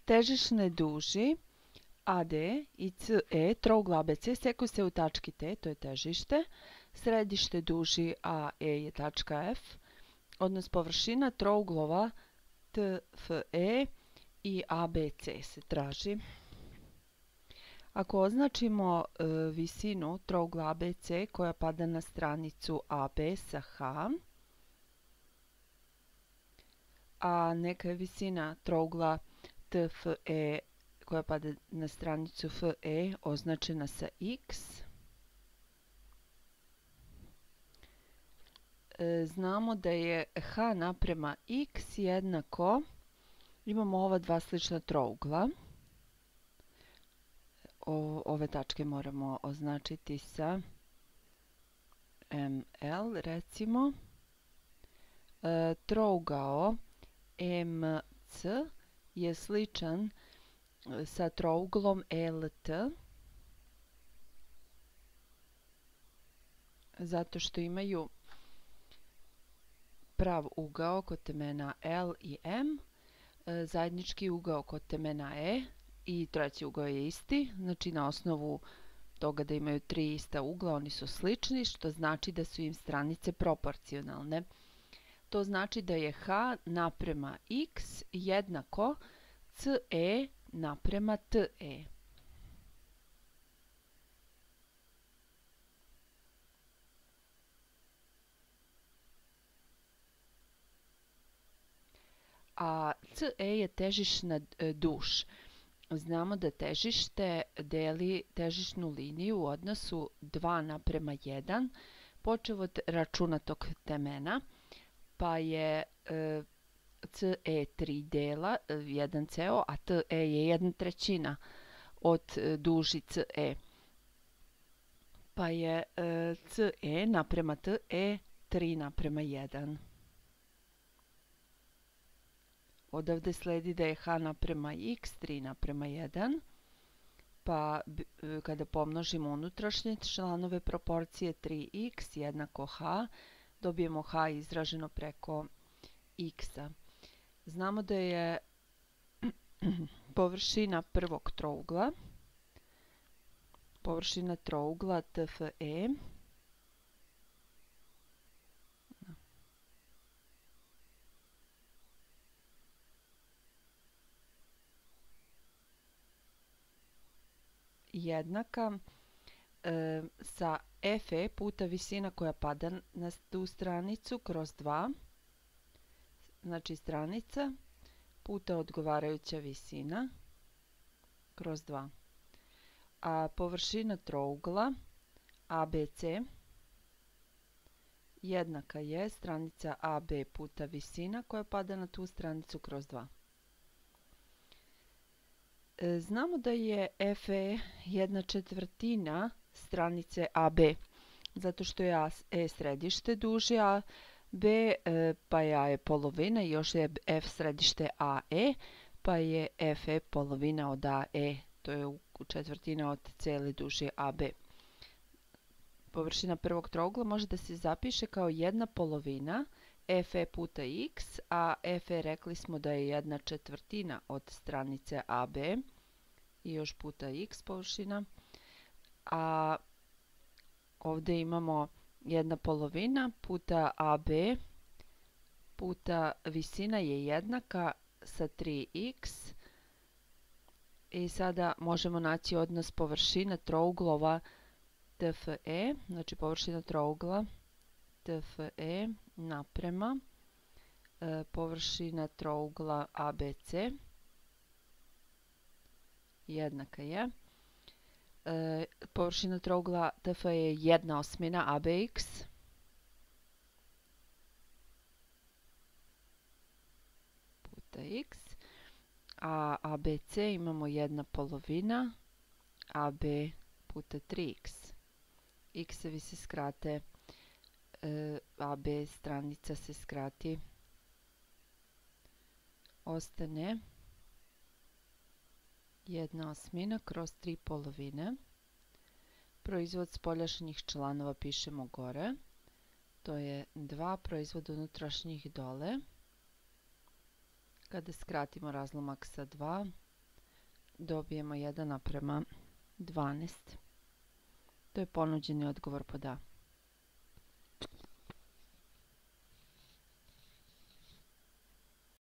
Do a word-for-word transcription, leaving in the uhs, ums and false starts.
Težišne duži A D i C E trougla A B C sekuju se u tački T, to je težište. Središte duži A E je tačka F. Odnos površina trouglova T F E i A B C se traži. Ako označimo e, visinu trougla A B C koja pada na stranicu A B sa H, a neka je visina trougla T F E koja pada na stranicu F E označena sa X, e, znamo da je H naprema X jednako, imamo ova dva slična trougla. O, ove tačke moramo označiti sa M L, recimo. E, trougao M C je sličan sa trouglom L T, zato što imaju prav ugao kod temena L i M, e, zajednički ugao kod temena E i treći ugao je isti. Znači na osnovu toga da imaju tri ista ugla oni su slični, što znači da su im stranice proporcionalne. To znači da je H naprema X jednako C E naprema T E. A C E je težišna duž. Znamo da težište deli težišnu liniju u odnosu dva naprema jedan, počev od računatog temena, pa je e, C E tri dela, jedan ceo, a T E je jedna trećina od duži C E. Pa je e, C E naprema T E tri naprema jedan. Odavde sledi da je H naprema X tri naprema jedan, pa kada pomnožimo unutrašnje članove proporcije tri x jednako H, dobijemo H izraženo preko X-a. Znamo da je površina prvog trougla, površina trougla T F E, jednaka e, sa F E puta visina koja pada na tu stranicu kroz dva, znači stranica puta odgovarajuća visina kroz dva. A površina trougla A B C jednaka je stranica A B puta visina koja pada na tu stranicu kroz dva. Znamo da je F E jedna četvrtina stranice A B, zato što je E središte duži A B, pa je A je polovina i još je F središte A E, pa je F E polovina od A E, to je četvrtina od cele duži A B. Površina prvog trougla može da se zapiše kao jedna polovina F E puta X, a F E rekli smo da je jedna četvrtina od stranice A B i još puta X površina, a ovdje imamo jedna polovina puta A B puta visina je jednaka sa tri x i sada možemo naći odnos površina trouglova T F E, znači površina trougla T F E naprema e, površina trougla A B C jednaka je e, površina trougla T F E je jedna osmina A B X puta X, a A B C imamo jedna polovina A B puta tri x. X-evi se skrate, e, A B stranica se skrati, ostane jedna osmina kroz tri polovine. Proizvod spoljašnjih članova pišemo gore, to je dva, proizvod unutrašnjih dole. Kada skratimo razlomak sa dva, dobijemo jedan naprema dvanaest. To je ponuđeni odgovor pod A.